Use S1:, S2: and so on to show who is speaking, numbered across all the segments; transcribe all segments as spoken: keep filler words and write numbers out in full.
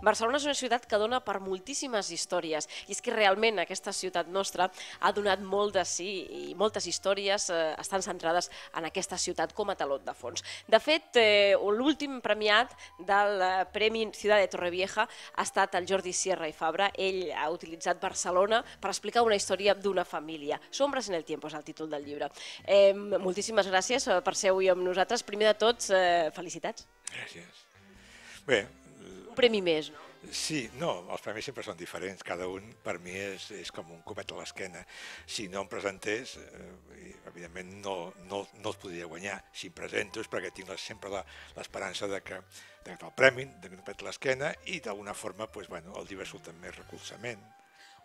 S1: Barcelona és una ciutat que dona per moltíssimes històries i és que realment aquesta ciutat nostra ha donat molt de sí i moltes històries eh, estan centrades en aquesta ciutat com a taló de fons. De fet, eh, l'últim premiat del eh, Premi Ciutat de Torrevieja ha estat el Jordi Sierra i Fabra. Ell ha utilitzat Barcelona per explicar una història d'una família. Sombres en el tiempo és el títol del llibre. Eh, moltíssimes gràcies per ser avui amb nosaltres. Primer de tots, eh, felicitats.
S2: Gràcies. Bé...
S1: Un premi més, no?
S2: Sí, no, els premis sempre són diferents, cada un per mi és, és com un copet a l'esquena. Si no em presentés, eh, evidentment no, no, no els podria guanyar. Si em presento és perquè tinc sempre l'esperança de que, de que el premi, de que un copet a l'esquena i d'alguna forma pues, bueno, el llibre surt amb més recolzament.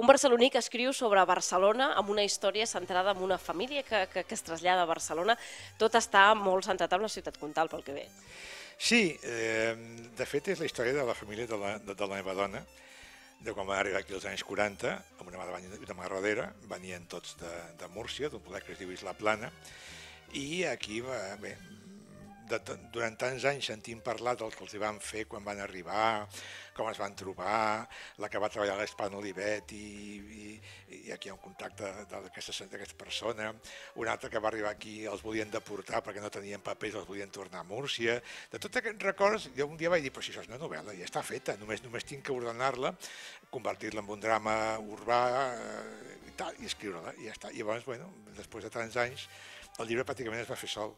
S1: Un barceloní que escriu sobre Barcelona amb una història centrada en una família que, que, que es trasllada a Barcelona. Tot està molt centrat en la ciutat comtal, pel que ve.
S2: Sí, eh, de fet és la història de la família de la, de, de la meva dona, de quan van arribar aquí als anys quaranta, amb una mà davant i una mà darrere, venien tots de, de Múrcia, d'un poble que es diu Isla Plana, i aquí va, bé, de, durant tants anys sentim parlar del que els hi van fer quan van arribar, com es van trobar, la que va treballar a l'Espan Olivet i, i, i aquí hi ha un contacte d'aquesta persona, una altra que va arribar aquí els volien deportar perquè no tenien papers, els volien tornar a Múrcia. De tots aquests records, jo un dia vaig dir, però si això és una novel·la, ja està feta, només, només tinc que ordenar-la, convertir-la en un drama urbà eh, i, tal, i escriure-la, i ja està. I llavors, bueno, després de tants anys, el llibre pràcticament es va fer sol.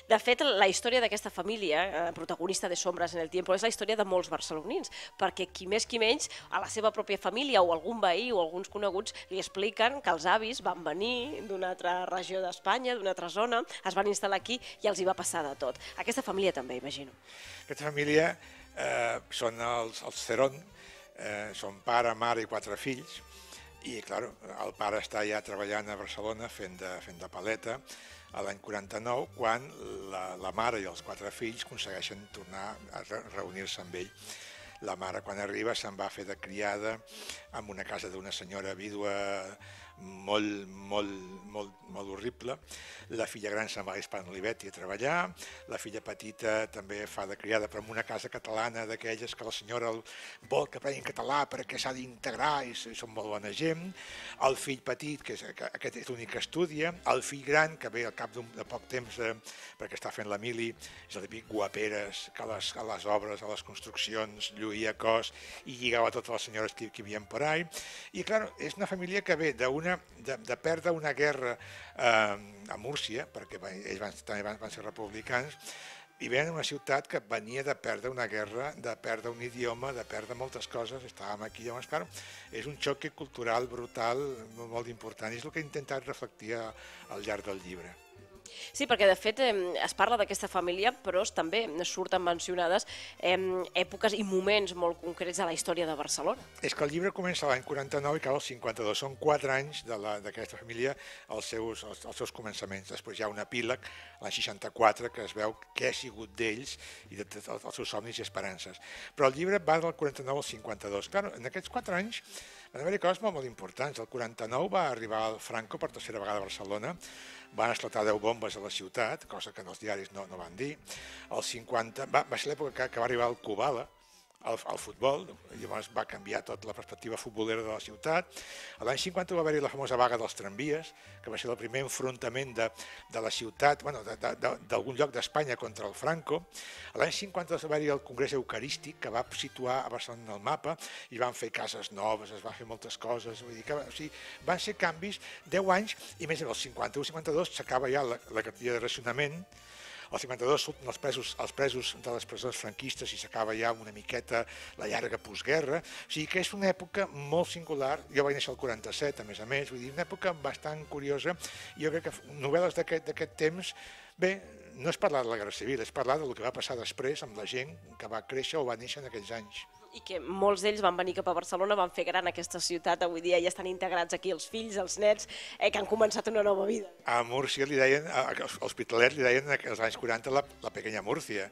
S1: De fet, la història d'aquesta família, eh, protagonista de Sombres en el tiempo, és la història de molts barcelonins, perquè qui més qui menys, a la seva pròpia família o algun veí o alguns coneguts li expliquen que els avis van venir d'una altra regió d'Espanya, d'una altra zona, es van instal·lar aquí i els hi va passar de tot. Aquesta família també, imagino.
S2: Aquesta família eh, són els, els Cerón, eh, són pare, mare i quatre fills, i clar, el pare està ja treballant a Barcelona fent de, fent de paleta, a l'any quaranta-nou, quan la, la mare i els quatre fills aconsegueixen tornar a reunir-se amb ell. La mare, quan arriba, se'n va fer de criada en una casa d'una senyora vídua molt, molt, molt, molt horrible. La filla gran se'n va a Hispan Olivet a treballar, la filla petita també fa de criada, però en una casa catalana d'aquelles que la senyora vol que aprenguin català perquè s'ha d'integrar i són molt bona gent. El fill petit, que, és, que aquest és l'únic que estudia, el fill gran, que ve al cap de poc temps eh, perquè està fent la mili, és el típic guaperes, que a les, a les obres, a les construccions, lluïa cos i lligava totes les senyores que, que hi havia per ahí. I clar, és una família que ve d'una De, de perdre una guerra eh, a Múrcia, perquè ells van, també van, van ser republicans, i venen a una ciutat que venia de perdre una guerra, de perdre un idioma, de perdre moltes coses, estàvem aquí, llavors, clar, és un xoc cultural brutal, molt important, i és el que he intentat reflectir al llarg del llibre.
S1: Sí, perquè de fet es parla d'aquesta família, però també surten mencionades èpoques i moments molt concrets de la història de Barcelona.
S2: És que el llibre comença l'any quaranta-nou i acaba al cinquanta-dos. Són quatre anys d'aquesta família els seus, els, els seus començaments. Després hi ha un epíleg, l'any seixanta-quatre, que es veu què ha sigut d'ells i de tots els seus somnis i esperances. Però el llibre va del quaranta-nou al cinquanta-dos. Clar, en aquests quatre anys van haver-hi coses molt, molt importants. El quaranta-nou va arribar el Franco per tercera vegada a Barcelona, van esclatar deu bombes a la ciutat, cosa que en els diaris no, no van dir. El cinquanta va, va ser l'època que, que va arribar el Kubala, al, al futbol, llavors va canviar tota la perspectiva futbolera de la ciutat. L'any cinquanta va haver-hi la famosa vaga dels tramvies, que va ser el primer enfrontament de, de la ciutat, bueno, d'algun lloc d'Espanya contra el Franco. L'any cinquanta va haver-hi el Congrés Eucarístic, que va situar a Barcelona en el mapa, i van fer cases noves, es van fer moltes coses, vull dir que o sigui, van ser canvis, deu anys, i més en el cinquanta-u cinquanta-dos s'acaba ja la, la cartilla de racionament. Al cinquanta-dos surten els presos, els presos de les presons franquistes i s'acaba ja una miqueta la llarga postguerra. O sigui que és una època molt singular. Jo vaig néixer al quaranta-set, a més a més, vull dir, una època bastant curiosa. Jo crec que novel·les d'aquest temps, bé, no és parlar de la Guerra Civil, és parlar del que va passar després amb la gent que va créixer o va néixer en aquells anys.
S1: I que molts d'ells van venir cap a Barcelona, van fer gran aquesta ciutat, avui dia ja estan integrats aquí els fills, els nets, eh, que han començat una nova vida.
S2: A Múrcia li deien, a l'Hospitalet li deien als anys quaranta la, la pequeña Múrcia,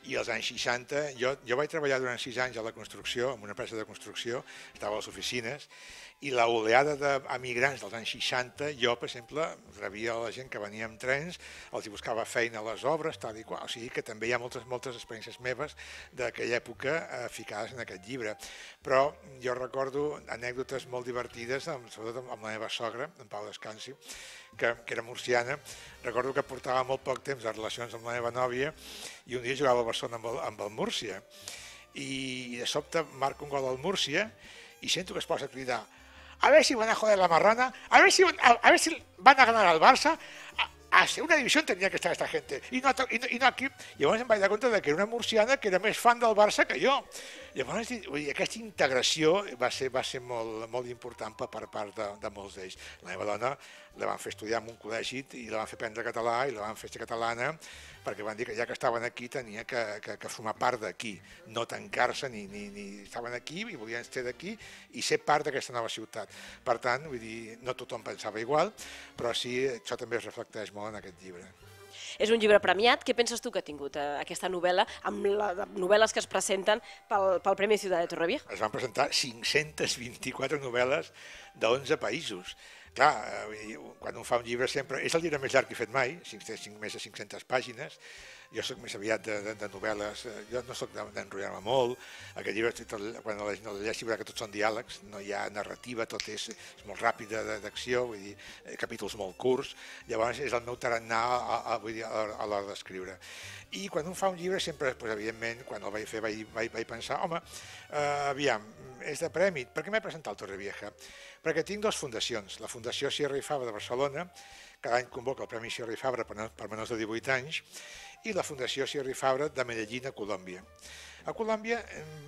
S2: i als anys seixanta, jo, jo vaig treballar durant sis anys a la construcció, en una empresa de construcció, estava a les oficines, i la oleada d'emigrants dels anys seixanta, jo, per exemple, rebia la gent que venia amb trens, els hi buscava feina a les obres, tal i qual. O sigui que també hi ha moltes, moltes experiències meves d'aquella època eh, ficades en en aquest llibre. Però jo recordo anècdotes molt divertides, sobretot amb la meva sogra, en Pau Descansi, que, que era murciana. Recordo que portava molt poc temps de relacions amb la meva nòvia i un dia jugava al Barcelona amb el, amb el Múrcia. I de sobte marca un gol al Múrcia y siento que es posa a cridar: a ver si van a joder la marrana, a ver si, a, a ver si van a ganar al Barça, a, a segunda división tendría que estar esta gente, i no, i no, i no aquí. Llavors em vaig dar compte que era una murciana que era més fan del Barça que jo. Llavors, vull dir, aquesta integració va ser, va ser molt, molt important per part de, de molts d'ells. La meva dona la van fer estudiar en un col·legi i la van fer aprendre català i la van fer ser catalana, perquè van dir que ja que estaven aquí tenia que, que, que formar part d'aquí, no tancar-se, ni, ni, ni estaven aquí i volien ser d'aquí i ser part d'aquesta nova ciutat. Per tant, vull dir, no tothom pensava igual, però sí, això també es reflecteix molt en aquest llibre.
S1: És un llibre premiat. Què penses tu que ha tingut eh, aquesta novel·la amb les novel·les que es presenten pel, pel Premi Ciutat de Torrevieja?
S2: Es van presentar cinc-centes vint-i-quatre novel·les d'onze països. Clar, quan un fa un llibre sempre... És el llibre més llarg que he fet mai, més de cinc-centes pàgines. Jo soc més aviat de, de, de novel·les, jo no soc d'enrotllar-me molt. Aquest llibre, tot, quan el llegeixi, veurà que tots són diàlegs, no hi ha narrativa, tot és, és molt ràpid d'acció, vull dir, capítols molt curts. Llavors és el meu tarannà a, a, vull dir, a, a l'hora d'escriure. I quan un fa un llibre, sempre, doncs, evidentment, quan el vaig fer, vaig, vaig, vaig pensar, home, eh, aviam, és de premi, per què m'he presentat al Torrevieja? Perquè tinc dues fundacions, la Fundació Sierra i Fabra de Barcelona, cada any convoca el Premi Sierra i Fabra per, per menors de divuit anys, i la Fundació Sierra i Fabra de Medellín, a Colòmbia. A Colòmbia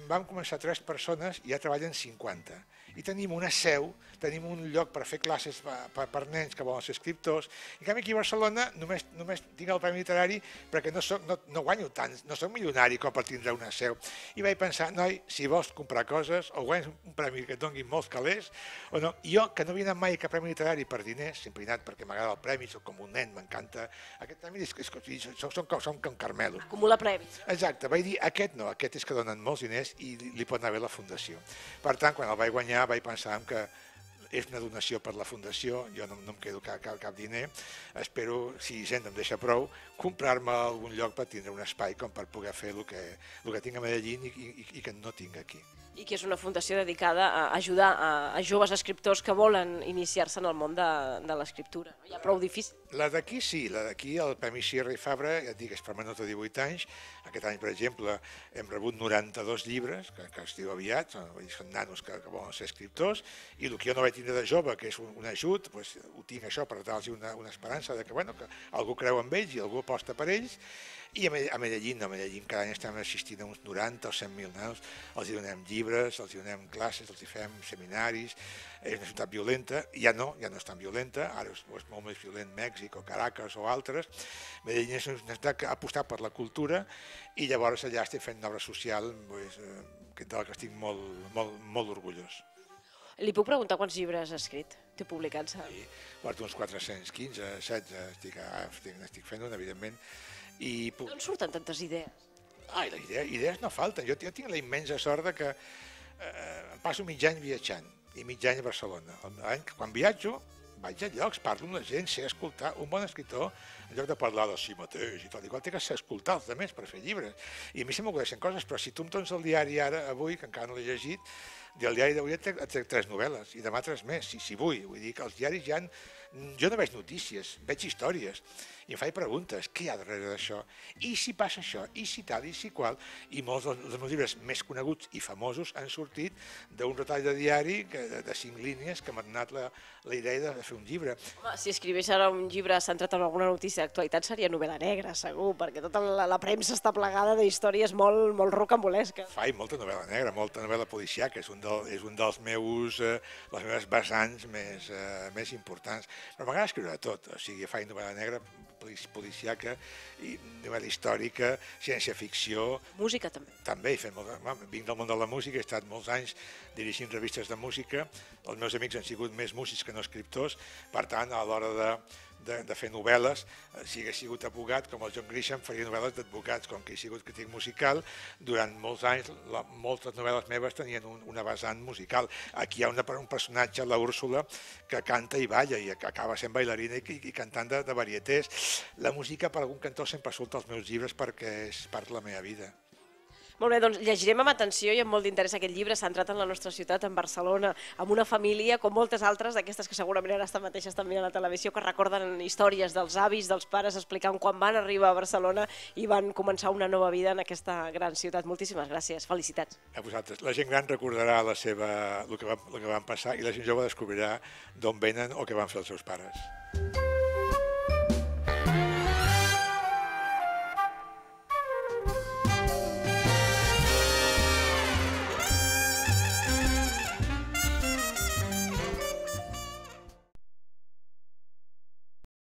S2: vam començar tres persones i ja treballen cinquanta. I tenim una seu, tenim un lloc per fer classes per, per nens que volen ser escriptors. En canvi, aquí a Barcelona només, només tinc el Premi Literari perquè no, soc, no, no guanyo tant, no soc milionari com per tindre una seu. I vaig pensar, noi, si vols comprar coses o guanyes un premi que et donguin molts calés, o no. I jo, que no havia anat mai a cap Premi Literari per diners, sempre he anat perquè m'agrada el premi, soc com un nen, m'encanta. Aquest premi és, és, és, són, són, com, són com Carmelo.
S1: Acumula premis.
S2: Exacte, vaig dir, aquest no, aquest és que donen molts diners i li, li pot anar bé la fundació. Per tant, quan el vaig guanyar, vaig pensar que és una donació per la fundació, jo no, no em quedo cap, cap, cap diner, espero, si gent em deixa prou, comprar-me algun lloc per tindre un espai com per poder fer el que, el que tinc a Medellín i, i, i que no tinc aquí.
S1: I que és una fundació dedicada a ajudar a, a joves escriptors que volen iniciar-se en el món de, de l'escriptura. No? Ja prou difícil.
S2: La d'aquí sí, la d'aquí, el Premi Sierra i Fabra, ja et dic, és per menors de divuit anys. Aquest any, per exemple, hem rebut noranta-dos llibres, que, que es diu aviat, són, són nanos que, que volen ser escriptors, i el que jo no vaig tindre de jove, que és un, un ajut, doncs, ho tinc això per dar-los una, una esperança de que, bueno, que algú creu en ells i algú aposta per ells. I a Medellín, a Medellín cada any estem assistint a uns noranta o cent mil nanos, els hi donem llibres, els hi donem classes, els hi fem seminaris. És una ciutat violenta, ja no, ja no és tan violenta, ara és, és molt més violent Mèxic o Caracas o altres. Medellín és una ciutat que ha apostat per la cultura i llavors allà estic fent una obra social pues, de la que estic molt, molt, molt orgullós.
S1: Li puc preguntar quants llibres ha escrit? Té publicats?
S2: Sí, porto uns quatre-cents quinze, setze, estic, estic, estic fent un, evidentment. I puc...
S1: D'on surten tantes idees?
S2: Ai, les idees, idees no falten. Jo, jo tinc la immensa sort de que eh, passo mig any viatjant i mig any a Barcelona. Quan viatjo, vaig a llocs, parlo amb la gent, sé escoltar. Un bon escriptor, en lloc de parlar de si mateix i tot, igual té que ser escoltar els altres per fer llibres. I a mi se m'acudeixen coses, però si tu em dones el diari ara, avui, que encara no l'he llegit, del diari d'avui et trec tres novel·les i demà tres més, si, si vull. Vull dir que els diaris ja... Han... Jo no veig notícies, veig històries i em faig preguntes, què hi ha darrere d'això? I si passa això? I si tal? I si qual? I molts dels meus llibres més coneguts i famosos han sortit d'un retall de diari que, de, de cinc línies que m'ha donat la, la idea de fer un llibre.
S1: Home, si escrivés ara un llibre centrat en alguna notícia d'actualitat seria novel·la negra, segur, perquè tota la, la premsa està plegada d'històries molt, molt rocambolesques.
S2: Faig molta novel·la negra, molta novel·la policiaca, és un, del, és un dels meus, eh, les meves vessants més, eh, més importants. Però m'agrada escriure de tot, o sigui, faig novel·la negra, policiaca, i novel·la històrica, ciència-ficció...
S1: Música també.
S2: També, he fet molt, vinc del món de la música, he estat molts anys dirigint revistes de música, els meus amics han sigut més músics que no escriptors, per tant, a l'hora de, de, de fer novel·les, si hagués sigut advocat, com el John Grisham, faria novel·les d'advocats, com que he sigut crític musical, durant molts anys, la, moltes novel·les meves tenien un, una vessant musical. Aquí hi ha una, un personatge, la Úrsula, que canta i balla, i acaba sent bailarina i, i cantant de, de varietés. La música, per algun cantó, sempre surt als meus llibres perquè és part de la meva vida.
S1: Molt bé, doncs llegirem amb atenció i amb molt d'interès aquest llibre centrat en la nostra ciutat, en Barcelona, amb una família, com moltes altres, d'aquestes que segurament ara estan mateixes també a la televisió, que recorden històries dels avis, dels pares, explicant quan van arribar a Barcelona i van començar una nova vida en aquesta gran ciutat. Moltíssimes gràcies, felicitats.
S2: A vosaltres. La gent gran recordarà la seva, el que van, el que van passar i la gent jove descobrirà d'on venen o què van fer els seus pares.